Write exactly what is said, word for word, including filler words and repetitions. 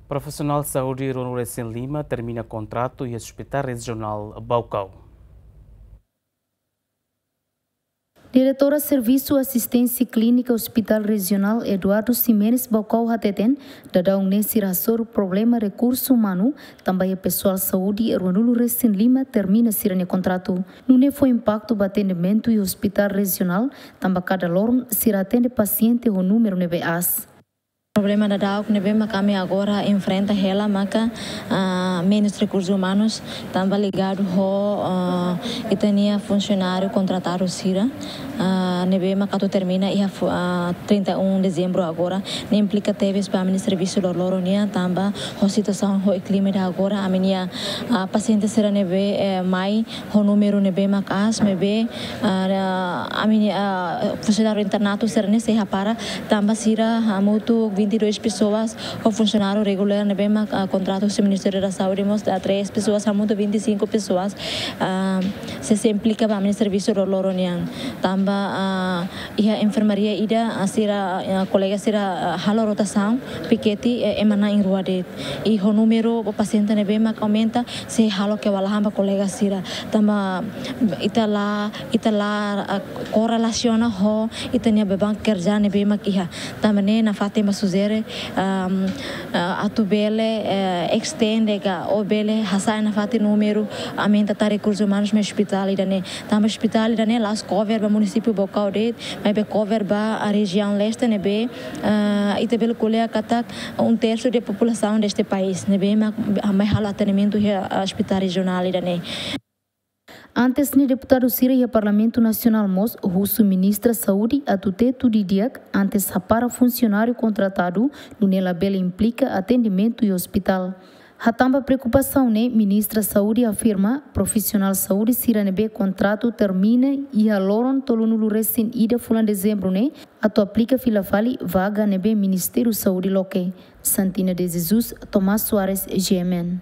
Profisionál saúde ruanulu-resin-lima termina kontratu iha Hospital Rejionál Baucau. Diretora Servisu Asisténsia Klínika Hospital Rejionál Eduardo Ximenes Baucau hateten, daudaun ne'e sira hasoru problema rekursu umanu, tanba iha pesoál saúde ruanulu-resin-lima termina sira-nia kontratu. Nune'e fó impaktu ba atendimentu iha Hospital Rejionál, tanba kada loron sira atende pasiente ho númeru ne'ebé aas. Problema daudaun ne'ebé mak ami agora enfrenta hela maka, ah, menus rekursus umanus, tanba ligadu ho, ah, ita-nia funsionáriu kontratadu sira, ah, ne'ebé mak atu termina iha fu-, ah, trinta e um dezembru agora. Ne'e implika tebes ba ami-nia servisu loroloron nian, tanba ho situasaun ho klima ida agora, ami-nia, ah, pasiente sira ne'ebé, eh, mai ho númeru ne'ebé mak aas, maibé, ah, ami-nia, ah, funsionáriu internatu sira-ne'e sei hapara, tanba sira hamutuk vinte e dois pessoas, ho funsionáriu regulár ne'ebé mak, ah, kontratu ho Ministériu da Saúde mós, ah, três pessoas, hamutuk vinte e cinco pessoas, ah, sei, sei implika ba ami-nia servisu loroloron nian. Tanba, ah, iha enfermaria ida, ah, sira, ah, kolega sira, ah, halo rotasaun, pikete, eh, ema na'in-rua de'it. I ho númeru pasiente ne'ebé mak aumenta, sei halo kewalahan ba kolega sira. Tanba ita la, ita la, ah, korrelasiona ho ita-nia beban kerja ne'ebé mak iha. Tanba ne'e nafatin mak sujere, am, ah, atu bele, eh, estende ka ou bele hasa'e nafatin númeru, aumenta tan rekursus umanus mai ospitál ida-ne'e. Tanba ospitál ida-ne'e la'ós cover ba munisípiu Baucau de'it, maibé cover ba, ah, rejiaun leste ne'ebé, ah, ita bele ko'alia katak um terço da população deste país, ne'ebé mak, ah, mai halo atendimentu iha, ah, Hospital Rejionál ida-ne'e. Antes ne'e deputadu sira iha Parlamentu Nasionál mós husu Ministra Saúde atu tetu didi'ak antes hapara funsionáriu kontratadu, nune'e labele implika atendimentu iha ospitál. Hatán ba preokupasaun ne'e, Ministra Saúde afirma, profisionál saúde sira ne'ebé kontratu termina iha loron tolunulu-resin-ida fulan Dezembru ne'e, atu aplika fila fali vaga ne'ebé Ministériu Saúde loke. Santina de Jesus, Tomás Soares, G M N.